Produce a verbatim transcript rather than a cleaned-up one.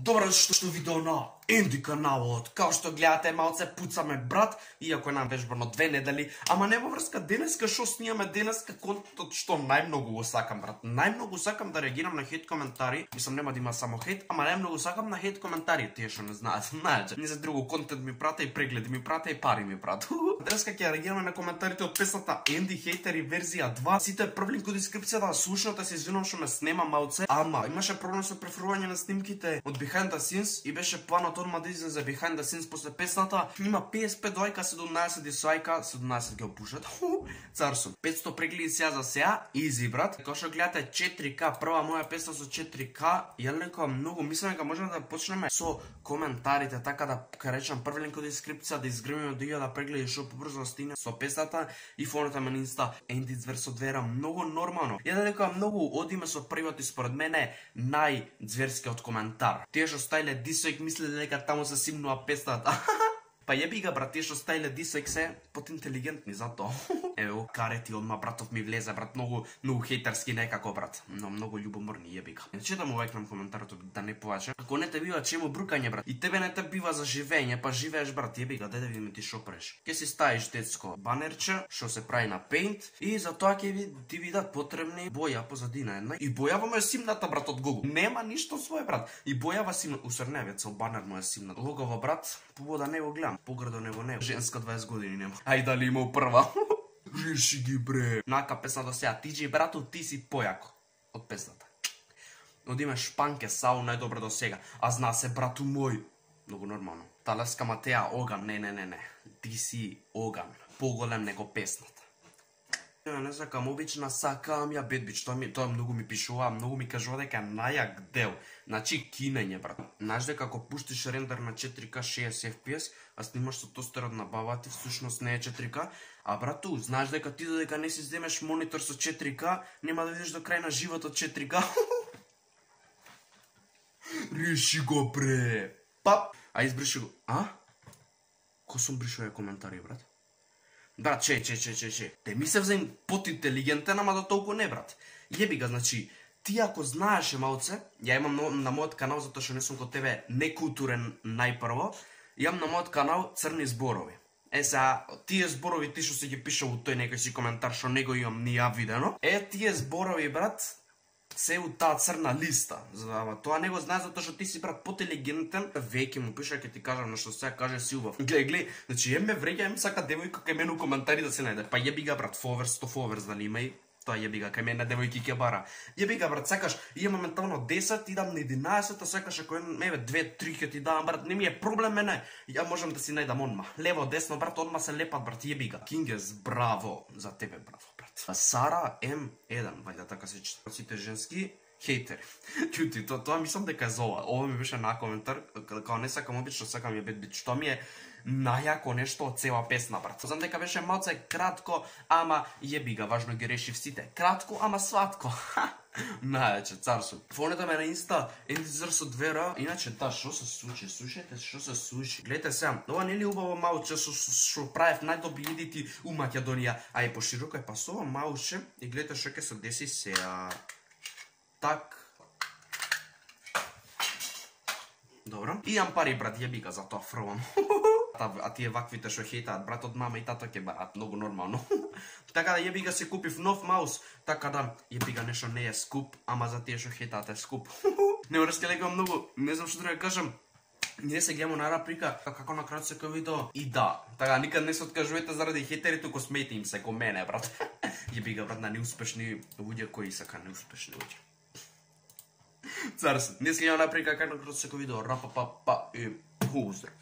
Добро што што видео на Енди каналот. Као што гледате, малце пуцаме брат, иако е нам вежбано две недели, ама нема врска денеска што снимаме денеска контентот што најмногу го сакам брат. Најмногу сакам да реагирам на хейт коментари. Мислам нема да има само хейт, ама најмногу сакам на хейт коментари, тие што не знаат. Знаете, не за друго контент ми прата и прегледи ми прата и пари ми прата. Денеска ќе реагираме на коментарите од песната Енди Хейтери верзија два. Сите прв линк во дескрипцијата, слушнете се, извинувам што ме снема малце, ама имаше проблем со префрлување на снимките од Behind the Scenes и беше планот одма да излезе Behind the Scenes после песната. Има петдесет и пет лајка, седумнаесет дизлајка, седумнаесет ги опушат. Царсо. петстотини прегледи сега за сега, изи брат. Као што гледате четири К, прва моја песна со четири К, ја лекам многу, мислам дека можеме да почнеме со коментарите, така да речам прв линк во дескрипција, да изгремиме до илјада прегледи што побрзо да стигне со песната и фонете ме на инста Енди Зверсодвера, многу нормално. Ја да лекам многу одиме со првиот и според мене најзверскиот коментар. Тие што стајле дисек мислеле дека таму се симнува песната. Па јеби ga брат, тие што стајле дисек се подинтелигентни затоа. Еве го карети одма братов ми влезе брат, многу многу хејтерски некако брат, но многу љубоморни јеби ga. Не читам овај коментарот да не поваче. Ако не те бива чему брукање брат, и тебе не те бива за живење, па живееш брат, јеби ga, деде видиме ти шо преш. Ке си ставиш детско банерче што се прави на Paint и за тоа ќе ви ти видат потребни боја позадина една. И бојава му е симната брат од Google. Нема ништо свој брат. И бојава симна, усрневец со банер му е симнат. Логово брат, побода не го гледам. Поградо него не. Женска дваесет години нема. Ај дали имал прва. Реши ги бре. Нака песна до сега. Тиджи брату, ти си појако. Од песната. Одиме шпанке, сау најдобро до сега. А зна се брату мој. Многу нормално. Талеска Матеа, оган. Не, не, не, не. Ти си оган. Поголем него песната. Ја не сакам обична, сакам ја бедбич. Тоа ми тоа многу ми пишува, многу ми кажува дека најак дел. Значи кинење брат. Знаеш дека ако пуштиш рендер на четири К шеесет Ф П С, а снимаш со тостерот на баба ти, всушност не е четири К, а брату, знаеш дека ти додека не си земеш монитор со четири К, нема да видиш до крај на животот четири К. Реши го бре. Пап, а избриши го. А? Ко сум бришува коментари брат? Брат, че, че, че, че, че. Те ми се взем подинтелигентен, ама до толку не, брат. Јеби ga, значи, ти ако знаеше малце, ја имам на, на мојот канал, затоа што не сум кod тебе некултурен најпрво, имам на мојот канал црни зборови. Е, сега, тие зборови, ти што си ги пишал у тој некој си коментар, што него имам ни ја видено, е, тие зборови, брат, се у таа црна листа. Ама тоа не го знаеш затоа што ти си брат потелигентен. Веќе му пиша, ќе ти кажам на што сега каже си убав. Глеј, глеј, значи ем ме вреќа, ем сака девојка кај мене у коментари да се најде. Па јеби ga брат, фоверс, сто фоверс дали има и тоа јеби ga, кај мене девојки ќе бара. Јеби ga брат, сакаш, имам моментално десет, идам на единаесет, а сакаш ако еве две три ќе ти давам брат, не ми е проблем мене. Ја можам да си најдам одма. Лево, десно брат, одма се лепат брат, јеби ga. Кингес, браво за тебе браво брат. Сара М еден, вајда така се чита. Сите женски хейтери. Чути, тоа тоа мислам дека е за ова. Ова ми беше на коментар, као не сакам обично, сакам ја бед бич. Тоа ми е најако нешто од цела песна брат. Знам дека беше малце кратко, ама јеби ga, важно ги решив сите. Кратко, ама сватко. Најаче, царсо. Фонете ме на инста Енди Зверсодвера. Иначе, та, шо се случи? Слушајте, шо се случи? Гледате сега, ова не ли убаво малче што правев најдобри едити у Македонија, а и пошироко е пасова малче и гледате што ќе се деси сега. Так. Добро. Имам пари брат, јеби ga, затоа фрлам. А тие ваквите што хейтаат брат од мама и тато ќе барат, многу нормално. Така да јеби ga се купив нов маус, така да јеби ga нешто не е скуп, ама за тие што хейтаат е скуп. Не врске лека многу, не знам што да кажам. Ние се гледаме на раприка како на крајот секој видео. И да, така никад не се откажувате заради хейтери, туку смејте им се ко мене брат. Јеби ga брат на неуспешни луѓе кои сака неуспешни луѓе. Царс, не се гледаме на раприка како на крајот секој видео. Рапа па па и пуздрав.